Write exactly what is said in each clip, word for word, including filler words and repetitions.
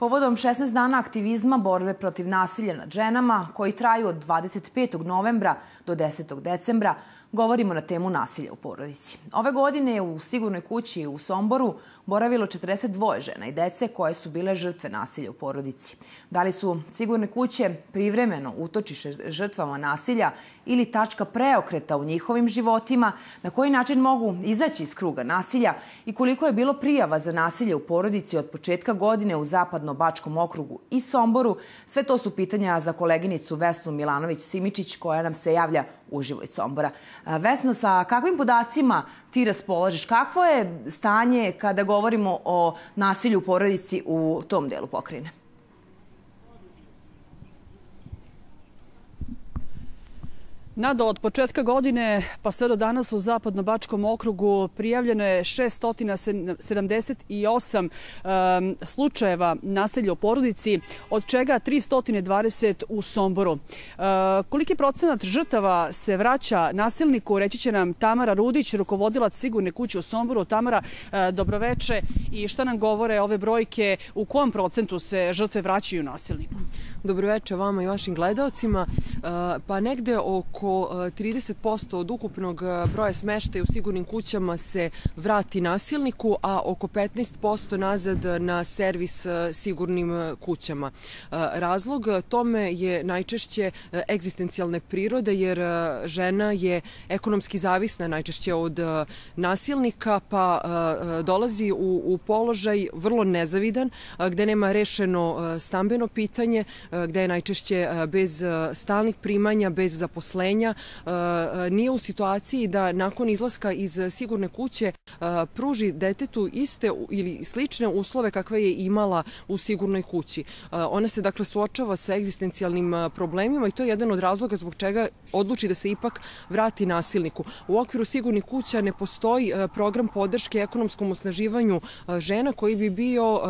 Povodom šesnaest dana aktivizma borbe protiv nasilja nad ženama, koji traju od dvadeset petog novembra do desetog decembra, govorimo na temu nasilja u porodici. Ove godine je u Sigurnoj kući u Somboru boravilo četrdeset dvoje žena i dece koje su bile žrtve nasilja u porodici. Da li su Sigurne kuće privremeno utočište žrtvama nasilja ili tačka preokreta u njihovim životima, na koji način mogu izaći iz kruga nasilja i koliko je bilo prijava za nasilje u porodici od početka godine u Zapadno-Bačkom okrugu i Somboru, sve to su pitanja za koleginicu Vesnu Milanović-Simičić koja nam se javlja uživo iz Sombora. Vesna, sa kakvim podacima ti raspolažeš? Kakvo je stanje kada govorimo o nasilju u porodici u tom delu pokrajine? Nado, od početka godine pa sve do danas u Zapadno-Bačkom okrugu prijavljeno je šessto sedamdeset osam um, slučajeva nasilja u porodici, od čega tristo dvadeset u Somboru. Uh, koliki procenat žrtava se vraća nasilniku, reći će nam Tamara Rudić, rukovodilac Sigurne kuće u Somboru. Tamara, uh, dobroveče, i šta nam govore ove brojke, u kom procentu se žrtve vraćaju nasilniku? Dobroveče vama i vašim gledaocima. Pa negde oko trideset posto od ukupnog broja smeštaja u sigurnim kućama se vrati nasilniku, a oko petnaest posto nazad na servis sigurnim kućama. Razlog tome je najčešće egzistencijalne prirode, jer žena je ekonomski zavisna najčešće od nasilnika, pa dolazi u, u položaj vrlo nezavidan, gde nema rešeno stambeno pitanje, gde je najčešće bez stalnih primanja, bez zaposlenja, nije u situaciji da nakon izlaska iz sigurne kuće pruži detetu iste ili slične uslove kakve je imala u sigurnoj kući. Ona se dakle suočava sa egzistencijalnim problemima i to je jedan od razloga zbog čega odluči da se ipak vrati nasilniku. U okviru sigurnih kuća ne postoji program podrške ekonomskom osnaživanju žena koji bi bio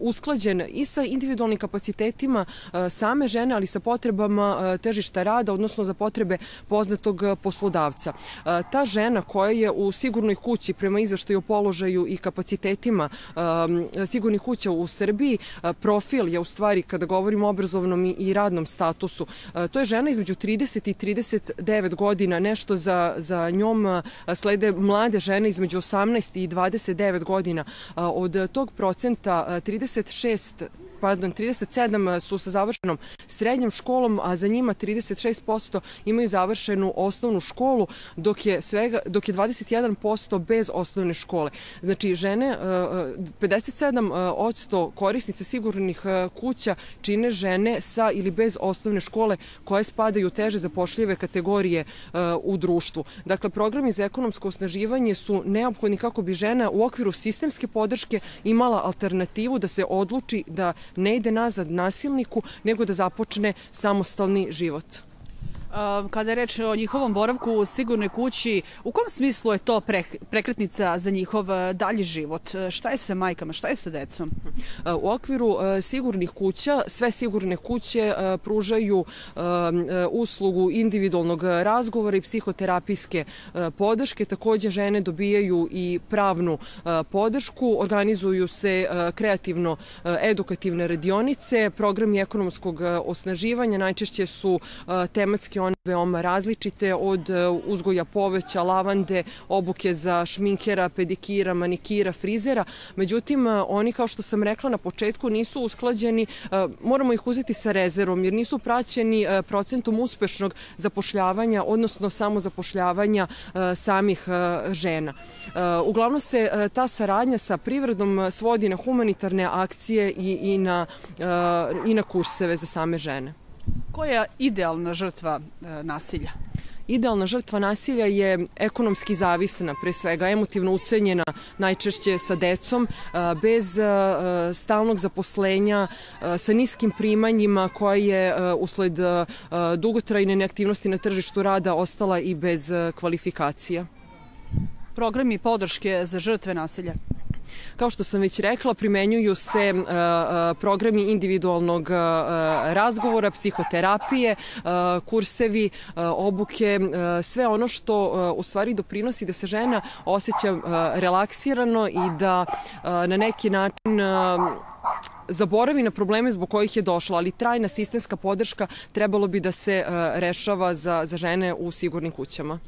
usklađen i sa individualnim kapacitetima same žene, ali sa potrebama tržišta rada, odnosno za potrebe poznatog poslodavca. Ta žena koja je u sigurnoj kući, prema izveštaju o položaju i kapacitetima sigurnih kuća u Srbiji, profil je u stvari, kada govorimo o obrazovnom i radnom statusu, to je žena između trideset i trideset devet godina, nešto za, za njom slede mlade žene između osamnaest i dvadeset devet godina. Od tog procenta trideset šest Pardon, trideset sedam su sa završenom srednjom školom, a za njima trideset šest posto imaju završenu osnovnu školu, dok je, svega, dok je dvadeset jedan posto bez osnovne škole. Znači, žene, pedeset sedam posto korisnica sigurnih kuća čine žene sa ili bez osnovne škole koje spadaju u teže zapošljive kategorije u društvu. Dakle, programi za ekonomsko osnaživanje su neophodni kako bi žena u okviru sistemske podrške imala alternativu da se odluči da ne ide nazad nasilniku, nego da započne samostalni život. Kada je reč o njihovom boravku u sigurnoj kući, u kom smislu je to prekretnica za njihov dalji život? Šta je sa majkama, šta je sa decom? U okviru sigurnih kuća, sve sigurne kuće pružaju uslugu individualnog razgovora i psihoterapijske podrške. Takođe, žene dobijaju i pravnu podršku, organizuju se kreativno-edukativne radionice, programi ekonomskog osnaživanja, najčešće su tematski one veoma različite, od uzgoja poveća, lavande, obuke za šminkera, pedikira, manikira, frizera. Međutim, oni, kao što sam rekla na početku, nisu usklađeni, moramo ih uzeti sa rezervom, jer nisu praćeni procentom uspešnog zapošljavanja, odnosno samozapošljavanja samih žena. Uglavnom se ta saradnja sa privredom svodi na humanitarne akcije i, i, na, i na kurseve za same žene. Koja je idealna žrtva e, nasilja? Idealna žrtva nasilja je ekonomski zavisna, pre svega emotivno ucenjena, najčešće sa decom, bez stalnog zaposlenja, sa niskim primanjima, koja je usled dugotrajne neaktivnosti na tržištu rada ostala i bez kvalifikacija. Programi podrške za žrtve nasilja? Kao što sam već rekla, primenjuju se programi individualnog razgovora, psihoterapije, kursevi, obuke, sve ono što u stvari doprinosi da se žena osjeća relaksirano i da na neki način zaboravi na probleme zbog kojih je došla, ali trajna sistemska podrška trebalo bi da se rešava za, za žene u sigurnim kućama.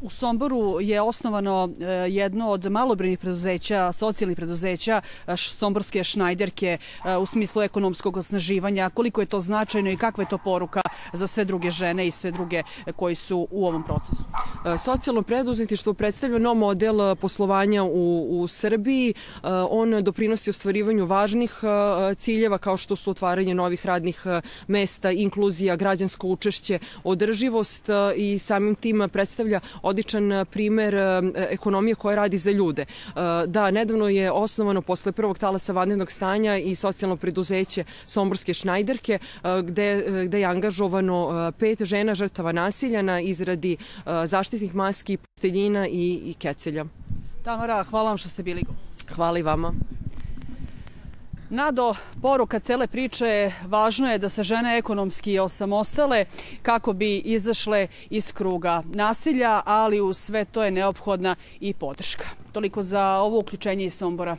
U Somboru je osnovano jedno od malobrojnih preduzeća, socijalnih preduzeća, somborske šnajderke u smislu ekonomskog osnaživanja. Koliko je to značajno i kakva je to poruka za sve druge žene i sve druge koji su u ovom procesu? Socijalno preduzetništvo predstavlja nov model poslovanja u, u Srbiji. On doprinosi ostvarivanju važnih ciljeva kao što su otvaranje novih radnih mesta, inkluzija, građansko učešće, održivost i samim tim predstavlja odličan primer ekonomije koja radi za ljude. Da, nedavno je osnovano posle prvog talasa vanrednog stanja i socijalno preduzeće Somborske šnajderke, gde, gde je angažovano pet žena žrtava nasilja na izradi zaštitnih maski, posteljina i, i kecelja. Tamara, hvala vam što ste bili gost. Hvala i vama. Nado, poruka cele priče, važno je da se žene ekonomski osamostale kako bi izašle iz kruga nasilja, ali uz sve to je neophodna i podrška. Toliko za ovo uključenje iz Sombora.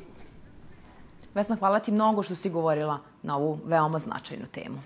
Vesna, hvala ti mnogo što si govorila na ovu veoma značajnu temu.